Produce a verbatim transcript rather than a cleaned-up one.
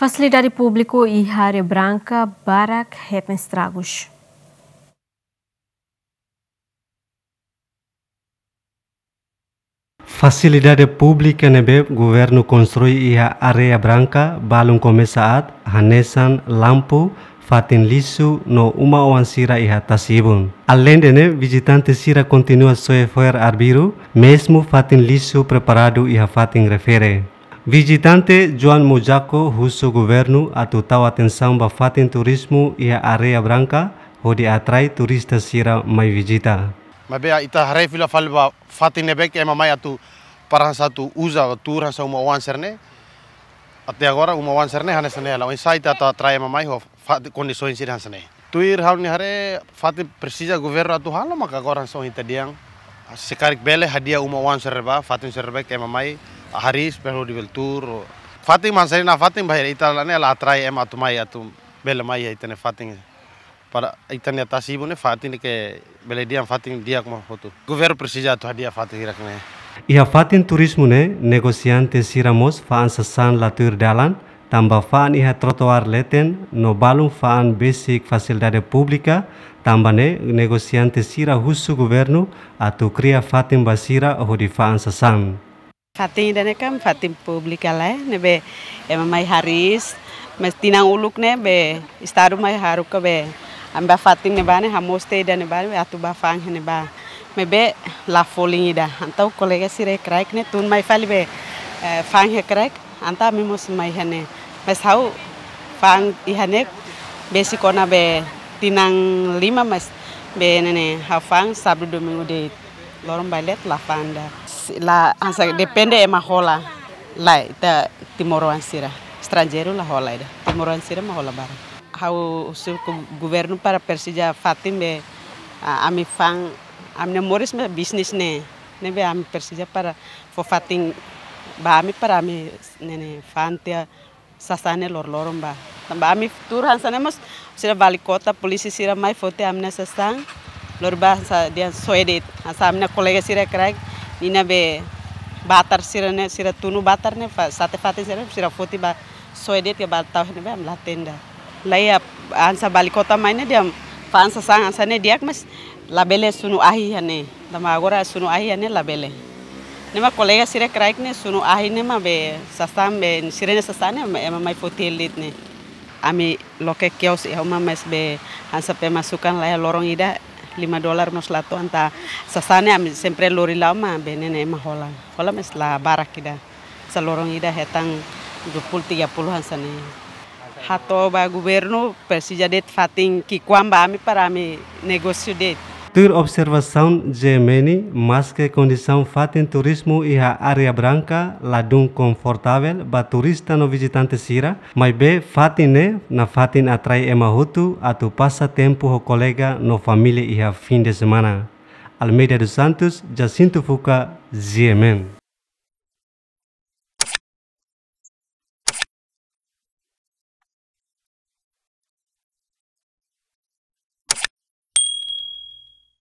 Fasilidade públiku iha Areia Branca barak hetan estragus. Fasilidade públika ne'ebé governu konstrui iha Areia Branca balun komesa aat, hanesan lampu, fatin lixu no uma-oan sira iha tasi-ibun. Aleinde ne'e, vizitante sira kontinua soe fo'er arbiru, mezmu fatin lixu preparadu iha fatin refere. Vizitante Joan Mojako husu governu atu tau atensaun ba fatin turizmu iha Areia Branca, hodi atrai turista sira mai vizita. Maibé ita haree fila fali ba fatin ne'ebé ke ema mai atu para hanesan atu uza, tuur hanesan uma-oan sira-ne'e. Até agora uma-oan sira-ne'e hanesan ne'e hela. Oinsá ita atu atrai ema mai ho fa-, kondisaun sira hanesan ne'e. Tuir ha'u-nia haree, fatin presiza governu atu halo maka agora hanesan ita dehan. Se karik bele hadi'a uma-oan sira ba, fatin sira ne'ebé ke ema mai, hariis, para hodi bele tuur. Fatin hanesan ne'e, na fatin bainhira ita la ne'e la atrai ema atu mai atu bele mai iha ita-nia fatin. Para ita-nia tasi-ibun ne'e fatin ke bele dehan fatin di'ak mak hotu. Governu presiza atu hadi'a fatin hirak-ne'e. Iha fatin turizmu ne'e, negosiante sira mós fa'an sasán la tuir dalan, tanba fa'an iha trotoar leten no balun fa'an besik fasilidade públika, tanba ne'e negosiante sira husu governu atu kria fatin ba sira hodi fa'an sasán. Fatin ida-ne'e kan fatin públika lae, ne'ebé ema mai hariis, mas tinan uluk ne'e be Estadu mai haruka be ami bá fatin ne'ebá ne'e, hamoos tiha ida-ne'ebá ne'e, be atu bá fa'an iha ne'ebá. Maibé la folin ida. Entaun kolega sira kraik ne'e tun mai fali be, eh, fa'an iha kraik, entaun ami mós mai iha ne'e. Mas ha'u fa'an iha ne'e besik ona be tinan lima, mas be ne'e ne'e ha'u fa'an sábadu domingu de'it. Loron ba leten la fa'an ida. Si-, la hanesan depende ema hola. Lae, ita timoroan sira. Estranjeiru la hola ida. Timoroan sira mak hola barak. Ha'u husu governu para presiza fatin be, ah, ami fa'an, ami-nia moris mak bisnis ne'e. Ne'ebé ami presiza para fó fatin ba ami para ami ne'e ne'e fa'an tiha sasán ne'e loroloron ba. Tanba ami tuur hanesan ne'e mós sira wali kota, polísia sira mai foti ami-nia sasán. Lori bá hanesan dehan soe de'it. Hanesan ami-nia kolega sira kraik, ninia be batar sira-ne'e, sira tunu batar ne'e, fa-, sate fatin sira, sira foti bá soe de'it ka bá tau iha ne'ebé ami la hatene ida. Lae, hanesan wali kota mai ne'e dehan fa'an sasán hanesan ne'e di'ak, mas labele sunu ahi iha ne'e. Tanba agora sunu ahi iha ne'e labele. Ne'e mak kolega sira kraik ne'e sunu ahi ne'e mak be sasán be sira-nia sasán ne'e ema mai foti hela de'it ne'e. Ami loke kios iha uma mas be hanesan pemasukan laiha, loron ida lima dolar mós la to'o, entaun sasán ne'e ami sempre lori la'o mak be ne'e ne'e ema hola. Hola mas la barak ida. Hanesan loron ida hetan dua puluh, tiga puluh hanesan ne'e. Hato'o ba governu presiza de'it fatin ki'ikoan ba ami para ami negósiu de'it. Tuir observasaun G M N, maske kondisaun fatin turizmu iha Areia Branca ladún konfortavel ba turista no vizitante sira, maibé fatin ne'e nafatin atrai ema hotu atu pasa tempu ho kolega no família iha fin de semana. Almeida dos Santos, Jacinto Fuca, G M N.